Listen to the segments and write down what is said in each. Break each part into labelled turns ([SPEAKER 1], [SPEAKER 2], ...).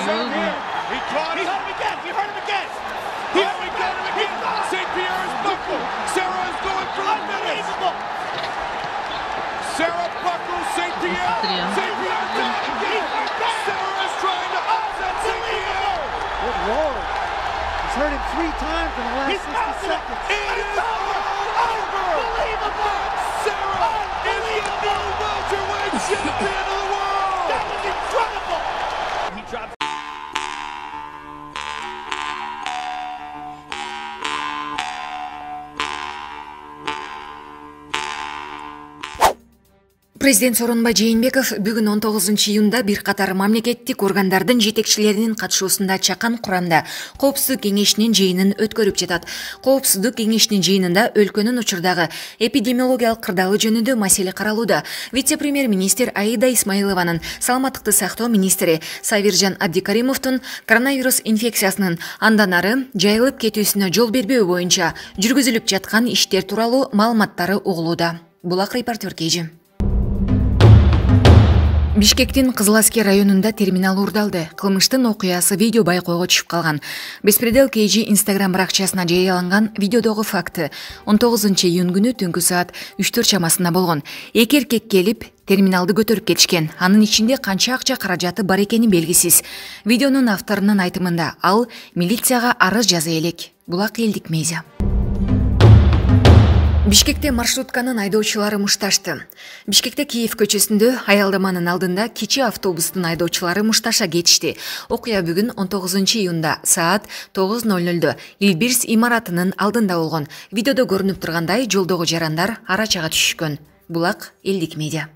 [SPEAKER 1] He caught him again. He hurt him again. Here we go again. St. Pierre is buckled. Sarah is going for the finish. Sarah buckles St. Pierre. St. Pierre down again. Sarah is trying to upset St. Pierre.
[SPEAKER 2] Good Lord. He's hurt him 3 times in the last 60 seconds.
[SPEAKER 1] It is over. Unbelievable. Sarah is the new welterweight champion of the world. That was incredible. He dropped.
[SPEAKER 3] Президент Сооронбай Жээнбеков бүгүн 19-июнда бир катар мамлекеттик органдардын жетекчилеринин катышуусунда чакан курамда Коопсуздук кеңешинин жыйынын өткөрүп жатат. Коопсуздук кеңешинин жыйынында өлкөнүн учурдагы эпидемиологиялык кырдаалы жөнүндө маселе каралууда. Вице-премьер-министр Аида Исмаилованын, саламаттыкты сактоо министри Сабиржан Абдикаримовдун коронавирус инфекциясынын андан ары жайылып кетүүсүнө жол бербөө боюнча жүргүзүлүп жаткан иштер тууралуу маалыматтары угулууда. Булак репортер Кежи. Бишкектин Кызыл Аскер районунда терминал урдалды. Кылмыштын окуясы видео байкоого түшүп калган. Беспредел KG Instagram баракчасына жарыяланган видеодогу факты 19-июнь күнү түнкү саат 3-4 чамасында болгон. Эки эркек келип терминалды көтөрүп кетишкен. Анын ичинде канча акча каражаты бар экени белгисиз. Видеонун авторунун айтымында ал милицияга арыз жаза элек. Булак элдик медиа. Бишкекте маршрутканын айдоочулары мушташты. Бишкекте Киев көчөсүндө аялдаманын алдында кичи автобустун айдоочулары мушташа кетишти. Окуя бүгүн 19-июнда саат 9:00 Илбирс имаратынын алдында болгон. Видеодо көрүнүп тургандай жолдогу жарандар арачага түшүшкөн. Булак элдик медиа.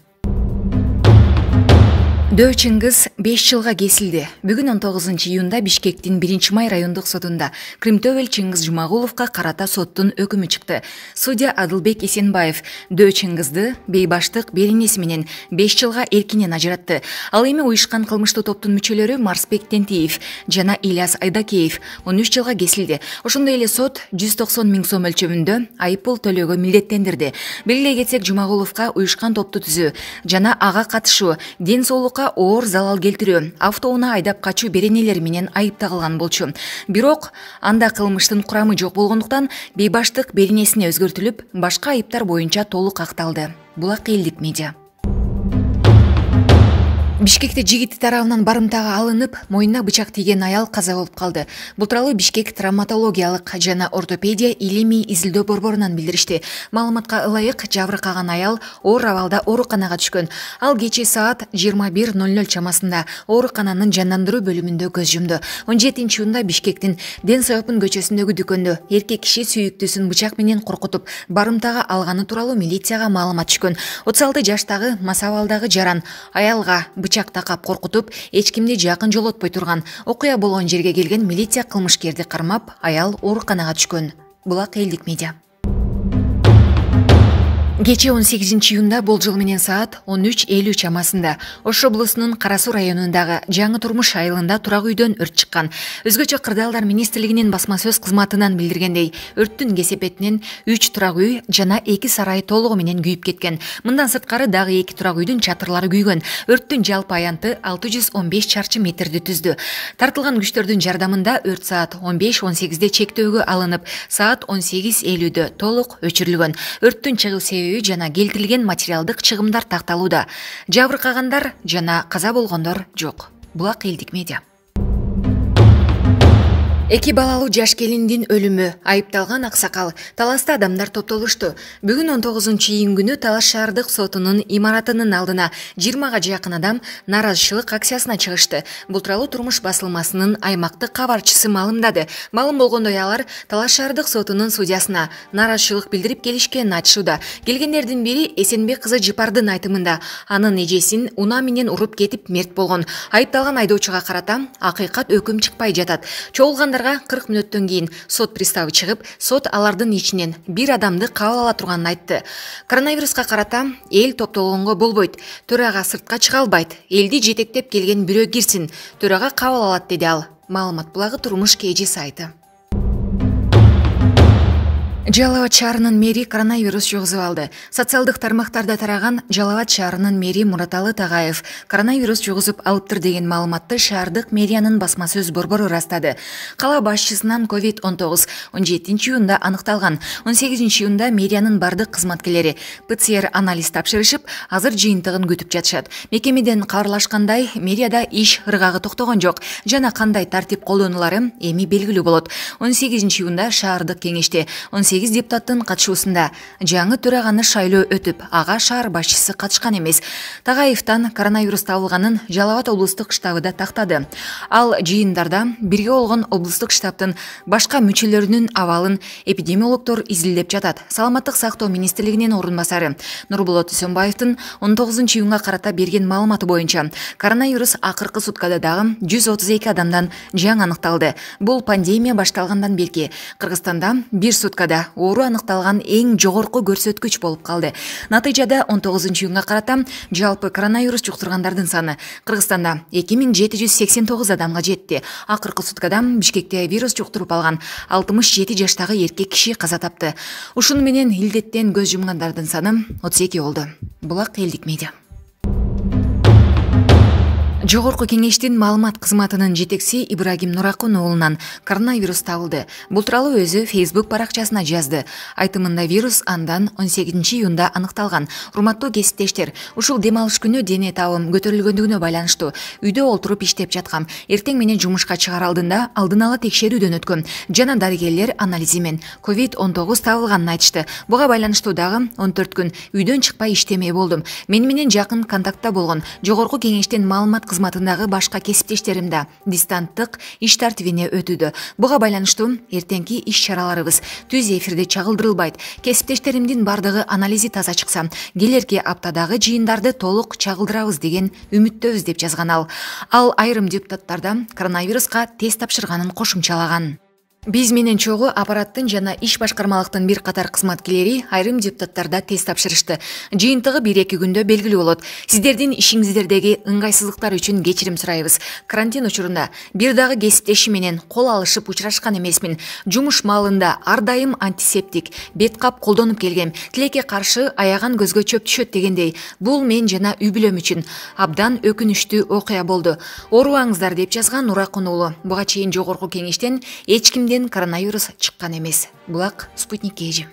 [SPEAKER 3] Дөө Чыңгыз 5 жылга кесилди. Бүгүн 19-июнда Бишкектин 1-май райондук сотунда Кримтөбөл Чыңгыз Жумагуловго карата соттун өкүмү чыкты. Судья Адылбек Эсенбаев Дөө Чыңгызды бейбаштык беренеси менен 5 жылга эркинен ажыратты. Ал эми уюшкан кылмыштуу топтун мүчөлөрү Марсбек Тентиев жана Ильяс Айдакеев 13 жылга кесилди. Ошондой эле сот 190 000 сом өлчөмүндө айыппул төлөөгө милдеттендирди. Белгилей кетсек, Жумагуловго уюшкан топту түзүү жана ага катышуу, ден соолукка оор залал келтирүү, автоунаа айдап качуу беренелери менен айыпталган болчу. Бирок анда кылмыштын курамы жок болгондуктан бейбаштык беренесине өзгөртүлүп, башка айыптар боюнча толук акталды. Булак элдик медиа. Бишкекте жигит тарабынан барымтага алынып, моюнуна бычак тийген аял каза болуп калды. Бул тууралуу Бишкек травматологиялык жана ортопедия илимий изилдөө борборунан билдиришти. Маалыматка ылайык, жабыркаган аял оор абалда ооруканага түшкөн. Ал кечээ саат 21:00 чамасында оорукананын жандандыруу бөлүмүндө көз жумду. 17-июнда Бишкектин Ден Соопун көчөсүндөгү дүкөндө эркек киши сүйүктүүсүн бычак менен коркутуп, барымтага алганы тууралуу милицияга маалымат түшкөн. 36 жаштагы мас абалдагы жаран аялга бычак такап коркутуп, эч кимди жакын жолотпой турган. Окуя болгон жерге келген милиция кылмышкерди кармап, аял ооруканага түшкөн. Булак элдик медиа. Кечээ 18-июнда болжол менен саат 13:50 чамасында Ош облусунун Кара Суу районундагы Жаңы Турмуш айылында турак үйдөн өрт чыккан. Өзгөчө Кырдаалдар министрлигинин басма сөз кызматынан билдиргендей, өрттүн кесепетинен 3 турак үй жана 2 сарай толугу менен күйүп кеткен. Мындан сырткары дагы 2 турак үйдүн чатырлары күйгөн. Өрттүн жалпы аянты 615 чарчы метрди түздү. Тартылган күчтөрдүн жардамында өрт саат 15:18 чектөөгө алынып, саат 18:50 толук өчүрүлгөн. Өрттүн чыгуу себеби жана келтирилген материалдык чыгымдар такталууда. Жабыркагандар жана каза болгондор жок. Булак элдик медиа. Эки балалуу жаш келиндин өлүмү айыпталган аксакал Таласта адамдар топтолушту. Бүгүн 19-июнь күнү Талас шаардык сотунун имаратынын алдына 20га жакын адам нааразычылык акциясына чыгышты. Бул тууралуу Турмуш басылмасынын аймактык кабарчысы маалымдады. Маалым болгондой алар Талас шаардык сотунун судьясына нааразычылык билдирип келишкенин айтышууда. Келгендердин бири Эсенбек кызы Жыпардын айтымында анын эжесин унаа менен уруп кетип мерт болгон. Айыпталган айдоочуга карата акыйкат өкүм чыкпай жатат. Чогулган 40 мүнөттөн кийин сот приставы чыгып, сот алардын ичинен бир адамды кабыл ала турганын айтты. Коронавируска карата эл топтолгонго болбойт. Төрага сыртка чыга албайт. Элди жетектеп келген бирөө кирсин. Төрага кабыл алат, деди ал. Маалымат булагы Турмуш KG сайты. Жалал Абад шаарынын мэри коронавирус жугузуп алды. Социалдык тармактарда тараган Жалал Абад шаарынын мэри Мураталы Тагаев коронавирус жугузуп алыптыр деген маалыматты шаардык мэриянын басма сөз борбору ырастады. Кала башчысынан COVID-19 17 июнда аныкталган. 18 июнда мэриянын бардык кызматкерлери ПЦР анализ тапшырышып, азыр жыйынтыгын күтүп жатышат. Мекемеден кабарлашкандай, мэрияда иш ыргагы токтогон жок жана кандай тартип колдонулары эми белгилүү болот. 18 июнда шаардык кеңеште 18 депутаттын катышуусунда жаңы төраганы шайлоо өтүп, ага шаар башчысы катышкан эмес. Тагаевтан коронавирус табылганын Жалал Абад облустук штабы да тактады. Ал жыйындарда бирге болгон облустук штабтын башка мүчөлөрүнүн абалын эпидемиологдор изилдеп жатат. Саламаттык сактоо министрлигинин орун басары Нурболот Сөнбаевдин 19 июнга карата берген маалыматы боюнча коронавирус акыркы суткада дагы 132 адамдан жаңы аныкталды. Бул пандемия башталгандан берки Кыргызстанда бир суткада оору аныкталган эң жогорку көрсөткүч болуп калды. Натыйжада 19 июнга карата жалпы коронавирус жуктургандардын саны Кыргызстанда 2789 адамга жетти. Акыркы суткада Бишкекте вирус жуктуруп алган 67 жаштагы эркек киши каза тапты. Ушуну менен илдеттен көз жумгандардын саны 32 болду. Булак элдик медиа. Жогорку кеңештин маалымат кызматынын жетекчиси Ибрагим Нуракун уулунан коронавирус табылды. Бул тууралуу өзү Facebook баракчасына жазды. Айтымында вирус андан 18 июнда аныкталган. Урматтуу кесиптештер, ушул дем алыш күнү дене табым көтөрүлгөндүгүнө байланыштуу үйдө олтуруп иштеп жаткам. Эртең менен жумушка чыгар алдында алдын ала текшерүүдөн өткөм жана дарыгерлер анализи менен COVID-19 табылганын айтышты. Буга байланыштуу дагы 14 күн үйдөн чыкпай иштемей болдум. Мени менен жакын контактта болгон жогорку кеңештин маалымат кызматындагы башка кесиптештерим да дистанттык иш тартибине өтүүдө. Буга байланыштуу эртеңки иш-чараларыбыз түз эфирде чагылдырылбайт. Кесиптештеримдин бардыгы анализи таза чыкса, келерки аптадагы жыйындарды толук чагылдырабыз деген үмүттөбүз деп жазган ал. Ал айрым депутаттарда коронавируска тест тапшырганын кошумчалаган. Биз менен чогуу аппараттын жана иш башкармалыктын бир катар кызматкерлери айрым депутаттарда тест тапшырышты. Жыйынтыгы 1-2 күндө белгилүү болот. Сиздердин ишиңиздердеги ыңгайсыздыктар үчүн кечирим сурайбыз. Карантин учурунда бир дагы кесиптешим менен кол алышып учурашкан эмесмин. Жумуш маалында ар дайым антисептик, бет кап колдонуп келгем. Тилекке каршы аяган көзгө чөп түшөт дегендей. Бул мен жана үй бүлөм үчүн абдан өкүнүчтүү окуя болду. Оорубаңыздар деп жазган Нуракун уулу. Буга чейин жогорку кеңештен эч кимден коронавирус чыккан эмес. Булак Спутник KG.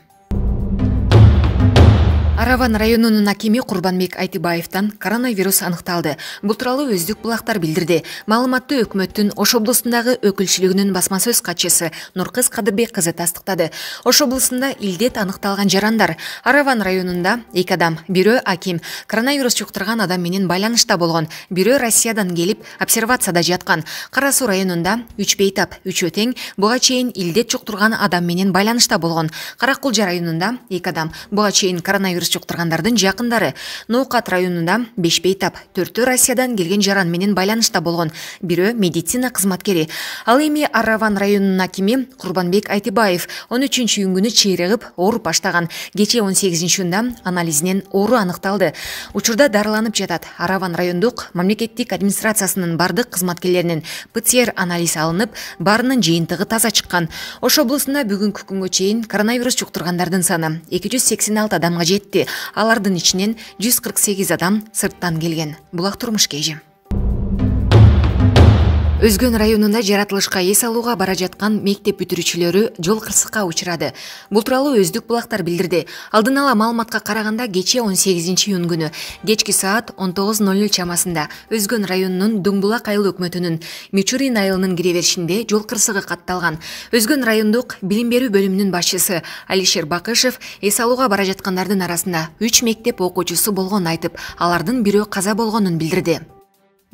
[SPEAKER 3] Араван районунун акими Курбанбек Айтыбаевден коронавирус аныкталды. Бул тууралуу Өздүк булактар билдирди. Маалыматты өкмөттүн Ош облусундагы өкүлчүлүгүнүн басма сөз катчысы Нуркыз Кадырбек кызы тастыктады. Ош облусунда илдет аныкталган жарандар. Араван районунда 2 адам, бирөө аким, коронавирус жуктурган адам менен байланышта болгон, бирөө Россиядан келип обсервацияда жаткан. Кара Суу районунда 3 бейтап, 3 тең буга чейин илдет жуктурган адам менен байланышта болгон. Каракулжа районунда 2 адам, буга чейин коронавирус жуктургандардын жакындары. Ноокат районунда 5 бейтап, 4 Россиядан келген жаран менен байланышта болгон, бирөө медицина кызматкери. Ал эми Араван районунун акими Курбанбек Айтыбаев 13 июнь чыйрыгып ооруп баштаган. Кече 18 июнда анализинен оору аныкталды. Учурда дарыланып жатат. Араван райондук мамлекеттик администрациясынын бардык кызматкерлеринин ПЦР анализ алынып, баарынын жыйынтыгы таза чыккан. Ош облусунда бүгүнкү күнгө чейин коронавирус жуктургандардын саны 286 адамга жетти. Алардын ичинен 148 адам сырттан келген. Булак Турмуш KG. Өзгөн районунда жаратылышка эс алууга бара жаткан мектеп бүтүрүүчүлөрү жол кырсыкка учурады. Бул тууралуу Өздүк булактар билдирди. Алдын ала маалыматка караганда кече 18 июнь күнү кечки саат 19:00 чамасында Өзгөн районунун Дөңбулак айыл өкмөтүнүн Мичурин айылынын кире беришинде жол кырсыгы катталган. Өзгөн райондук билим берүү бөлүмүнүн башчысы Алишер Бакышев эс алууга бара жаткандардын арасында 3 мектеп окуучусу болгонун айтып, алардын бирөө каза болгонун билдирди.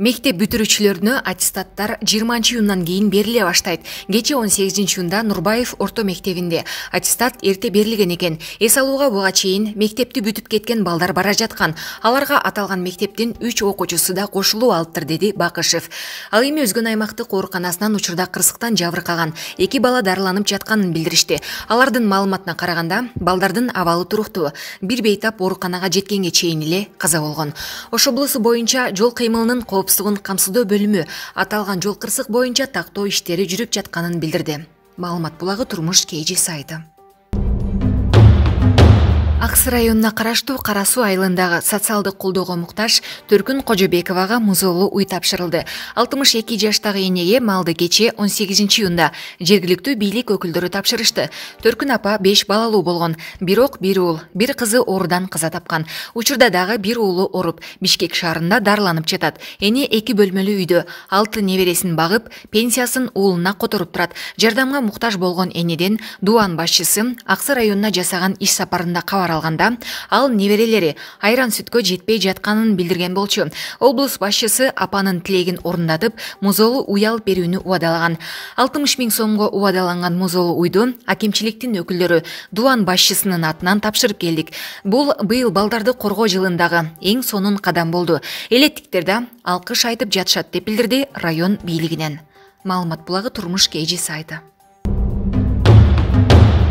[SPEAKER 3] Мектеп бүтүрүүчүлөрүнө аттестаттар 20 июндан кийин бериле баштайт. Кече 18 июнда Нурбаев орто мектебинде аттестат эрте берилген экен. Эс алууга буга чейин мектепти бүтүп кеткен балдар бара жаткан. Аларга аталган мектептин 3 окуучусу да кошулуп алыптыр, деди Бакышев. Ал эми Өзгөн аймактык ооруканасынан учурда кырсыктан жабыркаган 2 бала дарыланып жатканын билдиришти. Алардын маалыматына караганда, балдардын абалы туруктуу. Бир бейтап ооруканага жеткенге чейин эле каза болгон. Ош облусу боюнча жол кыймылынын коопсуздугун камсыздоо бөлүмү аталган жол кырсык боюнча тактоо иштери жүрүп жатканын билдирди. Маалымат булагы Турмуш KG сайты. Аксы районуна караштуу Кара Суу айылындагы социалдык колдоого муктаж Төркүн Кожобековага музоолуу уй тапшырылды. 62 жаштагы энеге малды кечээ 18-июнда жергиликтүү бийлик өкүлдөрү тапшырышты. Төркүн апа 5 балалуу болгон, бирок бир уул, бир кызы оорудан каза тапкан. Учурда дагы бир уулу ооруп, Бишкек шаарында дарыланып жатат. Эне 2 бөлмөлүү үйдө 6 небересин багып, пенсиясын уулуна которуп турат. Жардамга муктаж болгон энеден Дуан башчысы Аксы районуна жасаган иш сапарында кабар алганда, ал неберелери айран сүткө жетпей жатканын билдирген болчу. Облус башчысы апанын тилегин орундатып, музоолуу уй алып берүүнү убадалаган. 60 000 сомго убадаланган музоолуу уйду акимчиликтин өкүлдөрү Дуан башчысынын атынан тапшырып келдик. Бул быйыл балдарды коргоо жылындагы эң сонун кадам болду. Элеттиктер да алкыш айтып жатышат деп билдирди район бийлигинен. Маалымат булагы Турмуш KG сайты.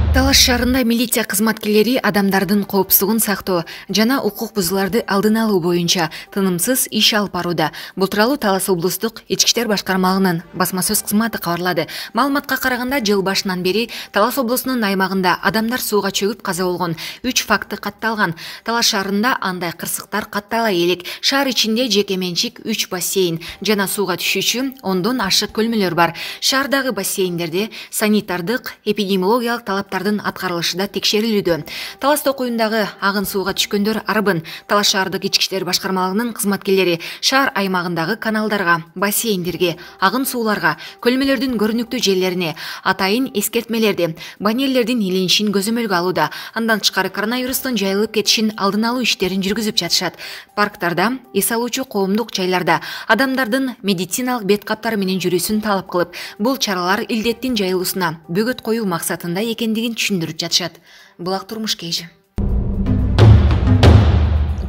[SPEAKER 3] Талаш шаарында милиция кызматкерлери адамдардын коопсуздугун сактоо жана укук бузууларды алдын алуу боюнча тынымсыз иш алып барууда. Бул тууралуу Талас облустук Ички иштер башкармалыгынын басма сөз кызматы кабарлады. Маалыматка караганда, жыл башынан бери Талас облусунун аймагында адамдар сууга чөгүп каза болгон 3 факты катталган. Талаш шаарында андай кырсыктар каттала элек. Шаар ичинде жеке менчик 3 бассейн жана сууга түшүүчү 10дон ашык көлмөлөр бар. Шаардагы бассейндерде санитардык, эпидемиологиялык талаптар аткарылышы да текшерилүүдө. Талас токуюндагы агын сууга түшкөндөр арбын Талас шаардык Ички иштер башкармалыгынын кызматкерлери шаар аймагындагы каналдарга, бассейндерге, агын сууларга, көлмөлөрдүн көрүнүктүү жерлерине атайын эскертмелерди, баннерлердин илинишин көзөмөлгө алууда. Андан тышкары коронавирустун жайылып кетишин алдын алуу иштерин жүргүзүп жатышат. Парктарда, эс алуучу коомдук жайларда адамдардын медициналык бет каптары менен жүрүүсүн талап кылып, бул чаралар илдеттин жайылуусуна бөгөт коюу максатында экендигин түшүндүрүп жатышат. Булак Турмуш KG.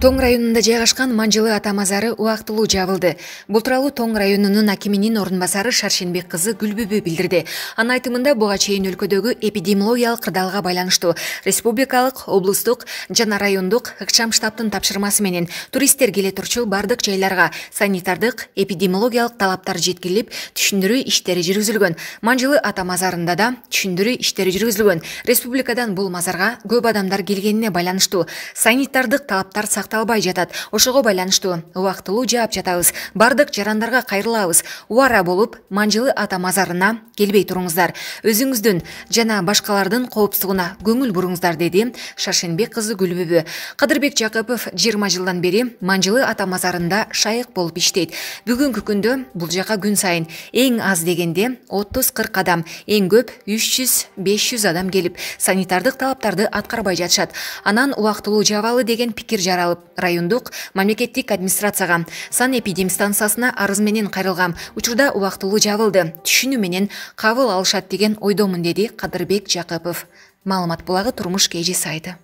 [SPEAKER 3] Тоң районунда жайгашкан Манжылы ата мазары убактылуу жабылды. Бул тууралуу Тоң районунун акиминин орун басары Шаршенбек кызы Гүлбүбү билдирди. Анын айтымында, буга чейин өлкөдөгү эпидемиологиялык кырдаалга байланыштуу республикалык, облустук жана райондук ыкчам штабтын тапшырмасы менен туристтер келе турчу бардык жайларга санитардык, эпидемиологиялык талаптар жеткирилип, түшүндүрүү иштери жүргүзүлгөн. Манжылы ата мазарында да түшүндүрүү иштери жүргүзүлгөн. Республикадан бул мазарга көп адамдар келгенине байланыштуу санитардык талаптар албай жатат. Ошого байланыштуу убактылуу жаап жатабыз. Бардык жарандарга кайрылабыз. Убара болуп, Манжылы ата мазарына келбей туруңуздар. Өзүңүздүн жана башкалардын коопсуздугуна көңүл буруңуздар, деди Шаршенбек кызы Гүлбүбү. Кадырбек Жакыпов 20 жылдан бери Манжылы ата мазарында шайык болуп иштейт. Бүгүнкү күндө бул жака күн сайын эң аз дегенде 30-40 адам, эң көп 300-500 адам келип, санитардык талаптарды аткарбай жатышат. Анан убактылуу жабалы деген пикир жаралып, райондук мамлекеттик администрацияга, санэпидемстанциясына арыз менен кайрылгам. Учурда убактылуу жабылды. Түшүнүү менен кабыл алышат деген ойдомун, деди Кадырбек Жакыпов. Маалымат булагы Турмуш KG сайты.